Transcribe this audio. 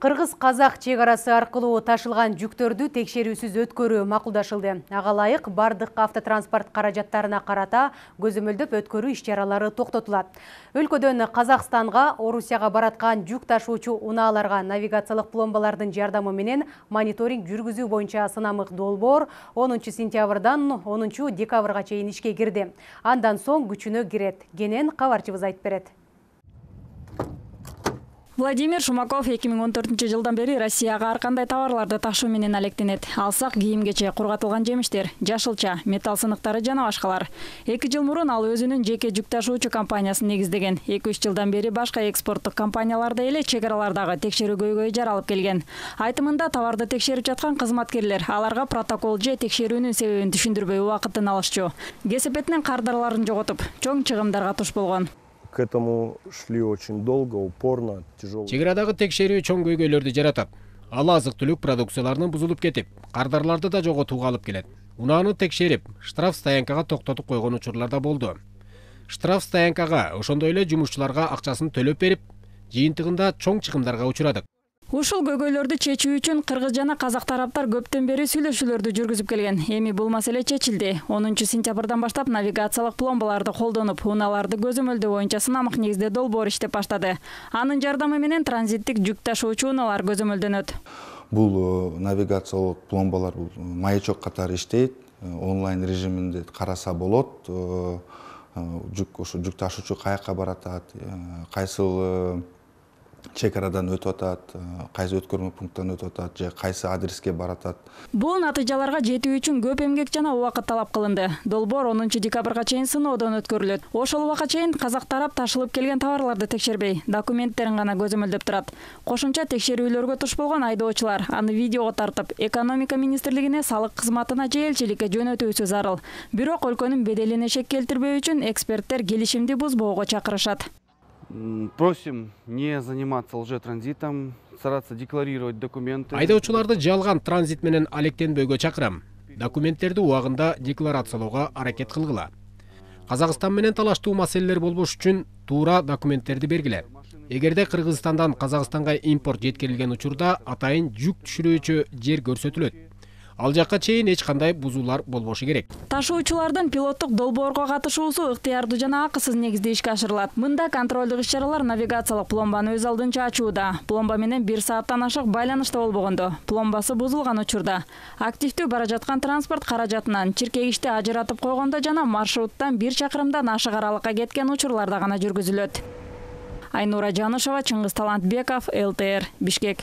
Кыргыз-казак чек арасы аркылуу ташылган жүктөрдү текшерүүсүз өткөрүү макулдашылды. Ага ылайык бардык автотранспорт каражаттарына карата көзөмөлдөп өткөрүү иш-чаралары токтотулат. Өлкөдөн Казакстанга, Орусияга бараткан жүк ташуучу унааларга навигациялык пломбалардын жардамы менен мониторинг жүргүзүү боюнча сынамык долбоор 10 сентябрдан 10 декабрга чейин ишке кирди. Андан соң күчүнө кирет. Кенен кабарчыбыз айтып берет. Владимир Шумаков 2014 жылдан бери Россияга ар кандай товарларды ташуу менен алектенет. Алсак кийимгече, кургатылган жемиштер, жашылча, металл сыныктары жана башкалар. 2 жыл мурун ал өзүнүн жеке жүк ташуучу компаниясын негиздеген. 2-3 жылдан бери башка экспорттук компанияларда эле чек аралардагы текшерүүгө жаралып келген. Айтымында товарды текшерип жаткан кызматкерлер аларга протокол же текшерүүнүн себебин түшүндүрбөй убакытын алышчу. Кесепетинен кардарларын жоготуп, чоң чыгымдарга туш болгон. К этому шли очень долго, упорно, тяжело. Чек арадагы текшерүү чоң көйгөйлөрдү жаратат. Ал азык-түлүк продукцияларынын бузулуп кетип, кардарларды да жоготууга алып келет. Унааны текшерип, штраф стоянкага токтотуп койгон учурлар да болду. Штраф стоянкага, ошондой эле жумушчуларга акчасын төлөп берип, жыйынтыгында чоң чыгымдарга учурадык. Ушул көйгөйлөрдү чечүү үчүн кыргыз жана казак тараптар көптөн бери сүйлөшүүлөрдү жүргүзүп келген. Эми бул маселе чечилди. 10 сентябрдан баштап навигациялык пломбаларды колдонуп, унааларды көзөмөлдөө боюнча сынамык негизде долбоор иштеп баштады. Анын жардамы менен транзиттик жүк ташуучу унаалар көзөмөлдөнөт. Бул навигациялык пломбалар маячок катары иштейт. Онлайн режиминде караса болот. Жүк ташуучу каяка баратат, кайсыл чек арадан өтүп атат, кайсы өткөрмө пункттан өтүп атат же кайсы адреске баратат. Бул натыйжаларга жетүү үчүн көп эмгек жана убакыт талап кылынды. Долбоор 10 декабрга чейин сыноодон өткөрүлөт. Ошол убакка чейин казак тарап ташылып келген товарларды текшербей, документтерин гана көзөмөлдөп турат. Кошумча текшерүүлөргө туш болгон айдоочулар аны видеого тартып, экономика министрлигине, салык кызматына же элчиликке жөнөтүүсү зарыл. Бирок өлкөнүн беделине шек келтирбөө үчүн эксперттер келишимди бузбоого чакырышат. Просим не заниматься лжетранзитом, стараться декларировать документы. Айдоочуларды жалган транзит менен алектенбөөгө чакырам. Документтерди убагында декларациялоого аракет кылгыла. Казакстан менен талаштуу маселелер болбош үчүн туура документтерди бергиле. Эгерде Кыргызстандан Казакстанга импорт жеткирилген учурда атайын жүк түшүрүүчү жер көрсөтүлөт. Ал жакка чейин эч кандай бузуулар болбошу керек. Ташуучулардын пилоттук долбоорго катышуусу ыктыярдуу жана акысыз негизде ишке ашырылат. Мында контролдук иш-чаралар навигациялык пломбаны өз алдынча ачууда. Пломба менен 1 сааттан ашык байланышта болбогондо, пломбасы бузулган учурда, активдүү бара жаткан транспорт каражатынан чиркегичти ажыратып койгондо жана маршруттан 1 чакырымдан ашык аралыкка кеткен учурларда гана жүргүзүлөт. Айнура Жанышева, Чыңгыз Талантбеков, ЛТР, Бишкек.